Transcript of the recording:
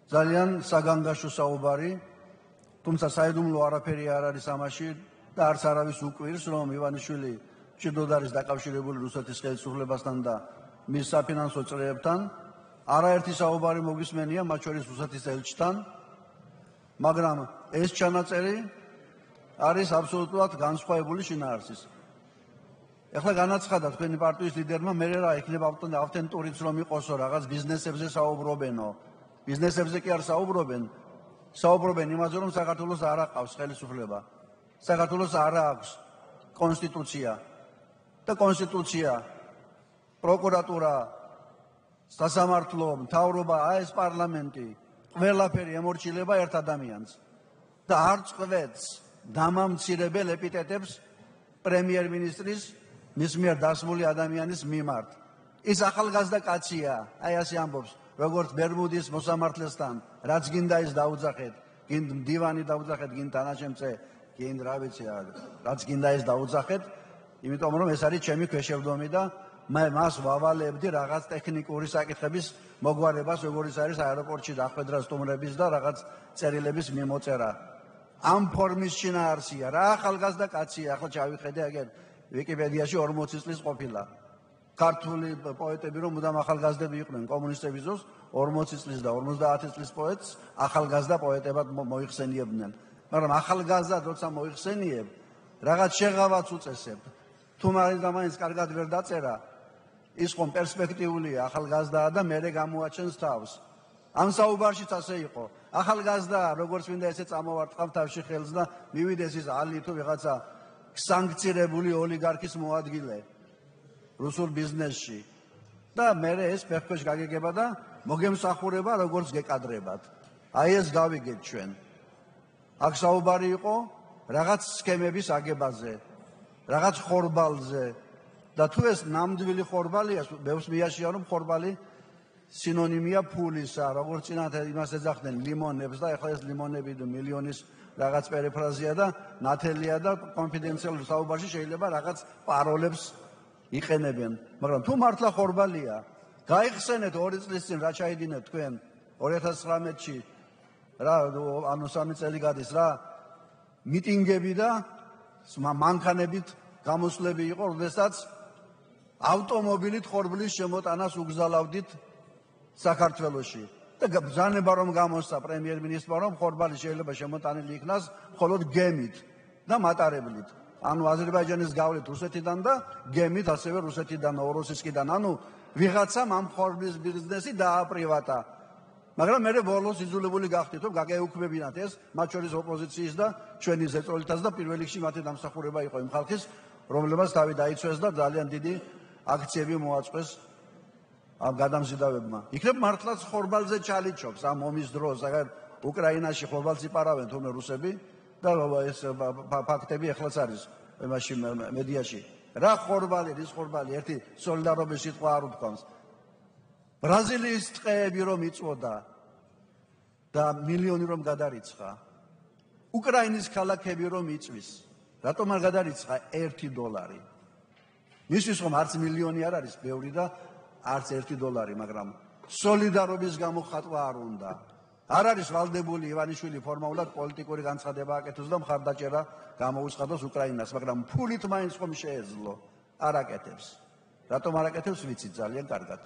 ძალიან საგანგაშო საუბარი, თუმცა საიდუმლო არაფერი არ არის ამაში და არც არავის უკვირს, რომ ივანიშვილი ჭიდროდ არის დაკავშირებული რუსეთის ხელისუფლებასთან და მის საფინანსო წრეებთან. არაერთი საუბარი მოგისმენია, მათ შორის რუსეთის ელჩთან, მაგრამ ეს ჩანაწერი არის აბსოლუტურად განსხვავებული შინაარსის. ეხლა განაცხადა თქვენი პარტიის ლიდერმა, მე რა იქნება ავთენტურიც რომ იყოსო, რაღაც ბიზნესებზე საუბრობენო. ბიზნესებზე კი არ საუბრობენ იმაზე, რომ საქართველოს არ აყავს ხელისუფლება. საქართველოს არ აქვს კონსტიტუცია და კონსტიტუცია, პროკურატურა, სასამართლო, მთავრობა, ეს პარლამენტი, ყველაფერი ემორჩილება ერთ ადამიანს და არ წყვეტს დამამცირებელ ეპიტეტებს პრემიერ-მინისტრის მის მიერ დასმული ადამიანის მიმართ. ის ახალგაზრდა კაცია, აი ასე ამბობს, როგორც ბერმუდის მოსამართლესთან, რაც გინდა ის დაუძახეთ, გინდა მდივანი დაუძახეთ, გინდა თანაშემწე, გინდა რა ვიცი, რაც გინდა ის დაუძახეთ, იმიტომ რომ ეს არის ჩემი ქვეშევრდომი და მე მას ვავალებდი რაღაც ტექნიკური საკითხების მოგვარებას, როგორც არის აეროპორტში დახვედრა სტუმრების და რაღაც წერილების მიმოწერა. ამ ფორმის შინაარსია, რა ახალგაზრდა კაცია, ახლა ჩავიხედე აგერ ვიკიპედიაში 40 წლის ყოფილა. ქართული პოეტები რომ მუდამ ახალგაზრდები იყვნენ კომუნისტების დროს 40 წლის და 50 წლის პოეტს ახალგაზრდა პოეტებად მოიხსენიებდნენ. მაგრამ ახალგაზრდა როცა მოიხსენიებ, რაღაც შეღავაც უწესებ. თუ მაინც კარგად ვერ დაწერა, ის ხომ პერსპექტიულია ახალგაზრდაა და მერე გამოაჩენს თავს. ამ საუბარშიც ასე იყო. ახალგაზრდა, როგორც მინდა ესე წამოვარტყავ თავში ხელს და მივიდეს ის ალი თუ ვიღაცა სანქცირებული ოლიგარქის მოადგილე რუსულ ბიზნესში და მერე ეს ფეხქვეშ გაგეგება და მოგემსახურება როგორც გეკადრებათ. აი ეს გავიგეთ ჩვენ. აქ საუბარი იყო რაღაც სქემების აგებაზე, რაღაც ხორბალზე და თუ ეს ნამდვილი ხორბალია, ბევრს მიაშია რომ ხორბალი სინონიმია ფულისა, როგორც წინათ იმას ეძახდნენ ლიმონებს და ეხლა ეს ლიმონები მილიონის რაღაც პერიფრაზია და ნათელია და კონფიდენციალურ საუბარში შეიძლება რაღაც პაროლებს იყენებენ, მაგრამ თუ მართლა ხორბალია, გაიხსენეთ 2 წლის წინ რა ჩაიდინეთ თქვენ 2019-ში რა ანუ 3 წელი გადის რა მიტინგები და მანქანებით გამოსვლები იყო, როდესაც ავტომობილით ხორბლის შემოტანას უგზალავდით საქართველოში. და ბრძანება რომ გამოსცა პრემიერ-მინისტრმა რომ ხორბალი შეიძლება შემოტანილი იქნას მხოლოდ გემით და მატარებლით. ანუ აზერბაიჯანის გავლით რუსეთიდან და გემით ასევე რუსეთიდან, ნოვოროსისკიდან, ანუ ვიღაცამ ამ ხორბლის ბიზნესი დააპრივატა. მაგრამ მე ბოლოს იძულებული გახდით რომ გაგეუქმებინათ ეს, მათ შორის ოპოზიციის და ჩვენი ზეწოლითაც და პირველ რიგში მათი დამსახურება იყო იმ ხალხის, რომლებმაც თავი დაიცვეს და ძალიან დიდი აქციები მოაწყვეს ამ გადამზიდავებმა. იქნებ მართლაც ხორბალზე ჩალიჩობს ამ ომის დროს, აგერ უკრაინაში ხორბალს იპარავენ თუნდაც რუსები და ეს ფაქტები ეხლაც არის იმაში მედიაში. რა ხორბალი, რის ხორბალი, ერთი სოლიდარობის სიტყვა არ უთქვამს. ბრაზილიის ტყეები რომ იწვოდა და მილიონი რომ გადარიცხა, უკრაინის ქალაქები რომ იწვის, რატომ არ გადარიცხა $1? მისთვის ხომ არც მილიონი არ არის ბევრი და არც $1, მაგრამ სოლიდარობის გამოხატვა არ უნდა. არ არის ვალდებული ივანიშვილი ფორმალურად პოლიტიკური განცხადება აკეთოს და მხარდაჭერა გამოუცხადოს უკრაინას, მაგრამ ფულით მაინც ხომ შეეძლო, არ აკეთებს. რატომ არ აკეთებს, ვიცით ძალიან კარგად.